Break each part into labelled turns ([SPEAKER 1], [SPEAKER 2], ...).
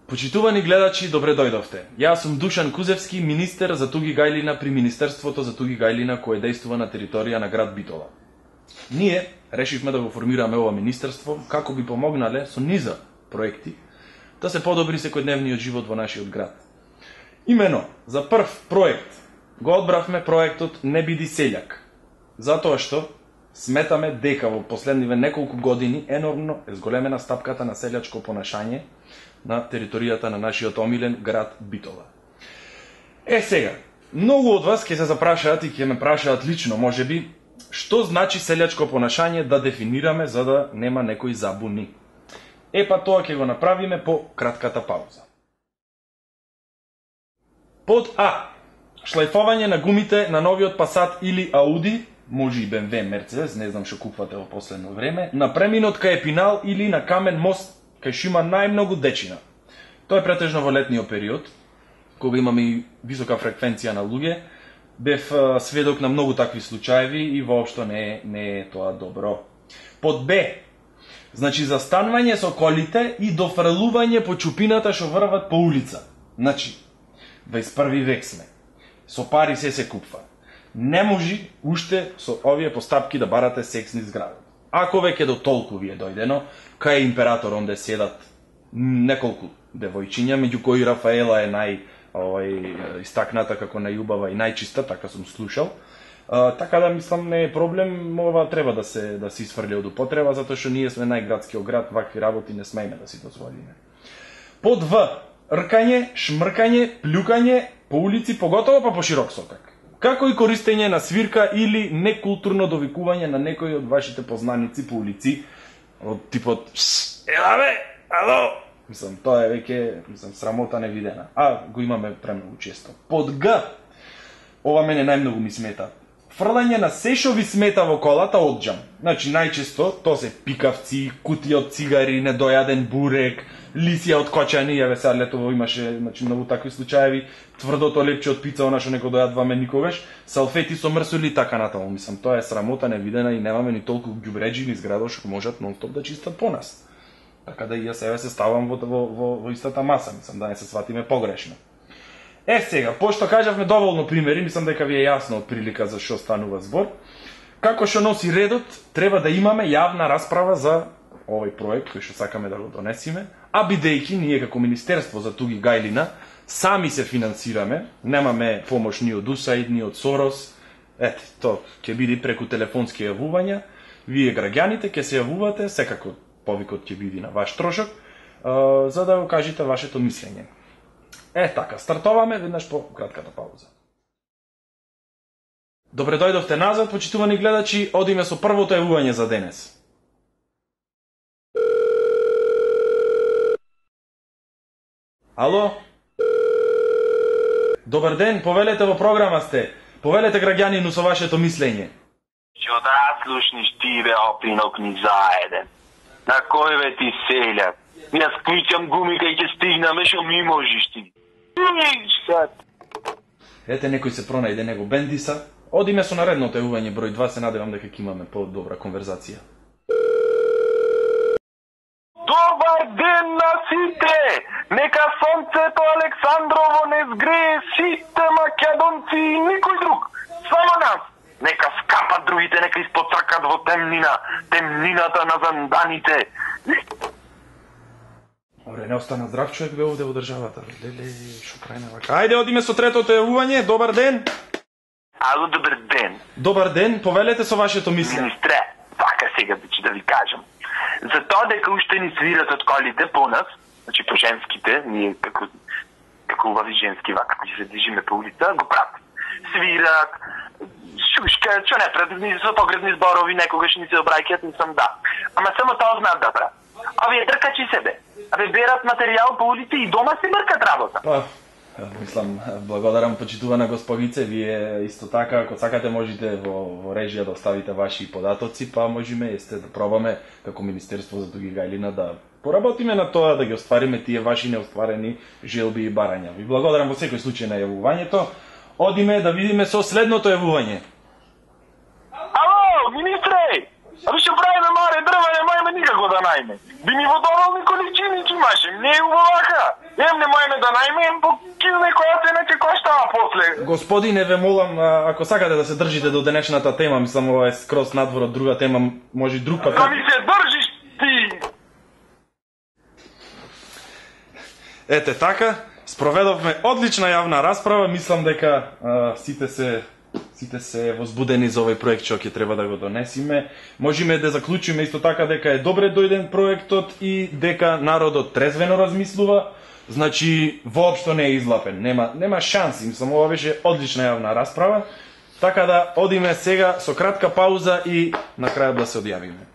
[SPEAKER 1] Почитувани гледачи, добре дојдовте. Јас сум Душан Кузевски, министер за Туги Гајлина при Министерството за Туги Гајлина кое действува на територија на град Битола. Ние решивме да го формираме ова министерство како би помогнале со низа проекти да се подобри секојдневниот живот во нашиот град. Имено, за прв проект го одбравме проектот Не биди селјак, затоа што сметаме дека во последниве неколку години енормно е зголемена стапката на селјачко понашање на територијата на нашиот омилен град Битола. Сега, многу од вас ќе се запрашаат и ќе ме прашаат лично, можеби, што значи селјачко понашање да дефинираме за да нема некои забуни. Па тоа ќе го направиме по кратката пауза. Под А. Шлајфовање на гумите на новиот Пасат или Ауди, може и БМВ, Мерцедес, не знам што купувате во последно време, на преминот кај Епинал или на Камен мост кај што има најмногу дечина. Тоа е претежно во летниот период, кога имаме и висока фреквенција на луѓе. Бев сведок на многу такви случаеви и воопшто не е тоа добро. Под Б. Значи застанување со колите и дофрлување по чупината што врват по улица. Значи, 21 век сме. Со пари се купва. Не може уште со овие постапки да барате сексни зградот. Ако веќе до толку ви е дојдено, кај император онде седат неколку девојчиња, меѓу кои Рафаела е истакната како најубава и најчиста, така сум слушал. Така да мислам не е проблем, ова треба да се исфрли од употреба, затоа што ние сме најградскиот град, вакви работи не смееме да си дозволиме. Под В. Ркање, шмркање, плюкање по улици, поготово па по широк сокак. Како и користење на свирка или некултурно довикување на некои од вашите познаници по улици, од типот ела бе, ало! Мислам, тоа е веќе срамота невидена. Го имаме премногу често. Под Г. Ова мене најмногу ми смета. Фрлање на се што ви смета во колата одџам. Значи, најчесто, тоа се пикавци, кутија од цигари, недојаден бурек, лисија од кочани, сега летово имаше многу такви случаеви, тврдото лепче од пица, она што не го дојадваме никогаш, салфети со мрсоли и така натаму. Мислам, тоа е срамота невидена и немаме ни толку ѓубреџи низ градот што можат нон-стоп да чистат по нас. Така да и јас себе се ставам во истата маса, мислам, да не се сватиме погрешно. Сега, пошто кажавме доволно примери, мислам дека ви е јасно од прилика за што станува збор. Како што носи редот, треба да имаме јавна расправа за овој проект кој што сакаме да го донесиме, а бидејќи ние како Министерство за Туги Гајлина сами се финансираме, немаме помош ни од USAID, ни од Сорос, тоа ќе биде преку телефонски јавувања, вие граѓаните ќе се јавувате, секако повикот ќе биде на ваш трошок, за да го кажете вашето мислење. Така, стартоваме веднаш по кратката пауза. Добре дојдовте назад, почитувани гледачи, одиме со првото јавување за денес. Ало? Добар ден, повелете во програма сте. Повелете граѓанину со вашето мислење.
[SPEAKER 2] Што да слушниш ти бе опинок ни заеден. На кој бе ти селјак? Јас клучам гуми кај ќе стигнаме, шо ми можеш ти.
[SPEAKER 1] Некој се пронајде него бендиса. Одиме со наредното јавување број 2, се надевам дека ќе имаме по-добра конверзација.
[SPEAKER 2] Добар ден на сите! Нека сонцето Александрово не згрее сите македонци и никој друг, само нас. Нека скапат другите, нека испотркат во темнината на занданите.
[SPEAKER 1] Добре, не остана здрав човек бе овде во државата. Леле, шо прајме вака? Ајде, одиме со третото јавување. Добар ден.
[SPEAKER 2] Ало, добар ден.
[SPEAKER 1] Добар ден, повелете со вашето мислење.
[SPEAKER 2] Министре, вака сега да ви кажам. За тоа дека уште ни свират од колите по нас, значи по женските, ние како убави женски вака, кои се движиме по улица, го прават. Свират, шушка, што не пред светоградни зборови, некогаш ни се обраќаат, не сам да. Ама само тоа знаат да прават. Овие дркачи себе. Абе берат материјал по улици и дома се мркат работа.
[SPEAKER 1] Мислам, благодарам почитувана господице, вие исто така, ако сакате можете во режија да оставите ваши податоци, па можеме да пробаме како Министерство за Туги Гајлина да поработиме на тоа да ги оствариме тие ваши неостварени желби и барања. Ви благодарам во секој случај на јавувањето. Одиме да видиме со следното јавување.
[SPEAKER 2] Ало, министре! Аби што правиме маре дрва, немајме никако да најме. Би ми во доволни количини ќе имаше, не е убавака. Немајме да најме, по некоја цена ќе коштава после.
[SPEAKER 1] Господине, ве молам, ако сакате да се држите до денешната тема, мислам ова е скроз надвор од друга тема, може и друг пат.
[SPEAKER 2] Да ми се држиш ти!
[SPEAKER 1] Ете така, спроведовме одлична јавна расправа, мислам дека сите се возбудени за овој проект што ќе треба да го донесиме. Можеме да заклучиме исто така дека е добре дојден проектот и дека народот трезвено размислува, значи воопшто не е излапен, нема шанси, мислам ова беше одлична јавна расправа, така да одиме сега со кратка пауза и на крајот да се одјавиме.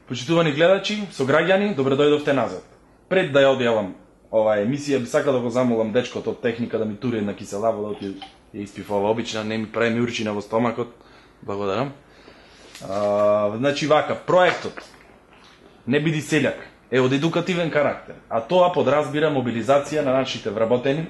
[SPEAKER 1] Почитувани гледачи, сограѓани, добре дојдовте назад. Пред да ја одјавам ова емисија, би сакал да го замолам дечкото од техника да ми тури една кисела вода, ја испив ова обична, не ми прави ми урчина во стомакот. Благодарам. Значи вака, проектот Не биди селјак е од едукативен карактер, а тоа подразбира мобилизација на нашите вработени,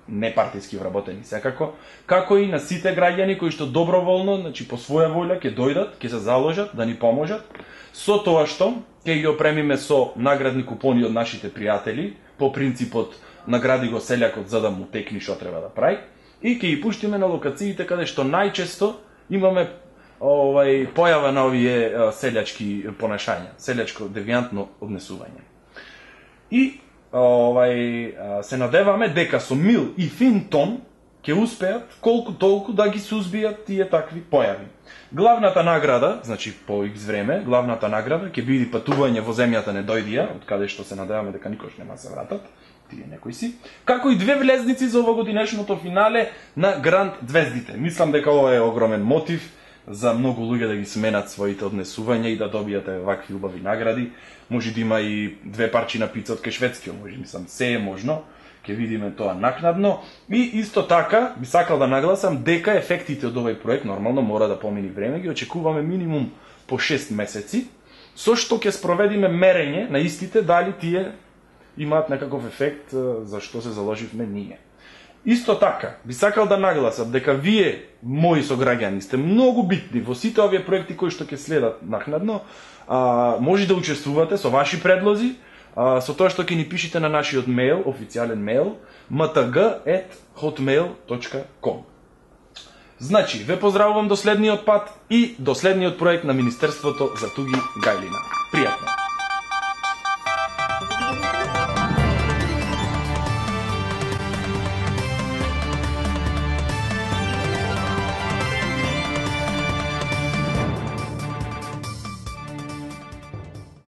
[SPEAKER 1] непартиски вработени секако, како и на сите граѓани кои што доброволно, значи по своја волја ќе дојдат, ќе се заложат да ни поможат, со тоа што ќе ги опремиме со наградни купони од нашите пријатели, по принципот награди го селјакот за да му текни што треба да прави, и ќе ги пуштиме на локациите каде што најчесто имаме појава на овие селјачки понашања, селјачко девијантно однесување. И се надеваме дека со мил и фин тон ќе успеат колку толку да ги сузбијат тие такви појави. Главната награда, значи по X време, главната награда ќе биде патување во земјата Недојдија, од каде што се надеваме дека никош нема се вратат, тие некои си, како и 2 влезници за овогодинешното финале на Гранд Звездите. Мислам дека ова е огромен мотив за многу луѓе да ги сменат своите однесувања и да добијате вакви убави награди. Може да има и 2 парчи на пица од Кешведскиот, може мислам се е можно, ќе видиме тоа накнадно. И исто така би сакал да нагласам дека ефектите од овој проект нормално мора да помини време, ги очекуваме минимум по 6 месеци, со што ќе спроведиме мерење на истите дали тие имаат некаков ефект за што се заложивме ние. Исто така, би сакал да нагласам дека вие, мои сограѓани, сте многу битни во сите овие проекти кои што ќе следат накнадно. Може да учествувате со ваши предлози, со тоа што ќе ни пишете на нашиот мејл, официјален мејл, mtg@hotmail.com. Значи, ве поздравувам до следниот пат и до следниот проект на Министерството за Туги Гајлина. Пријатно!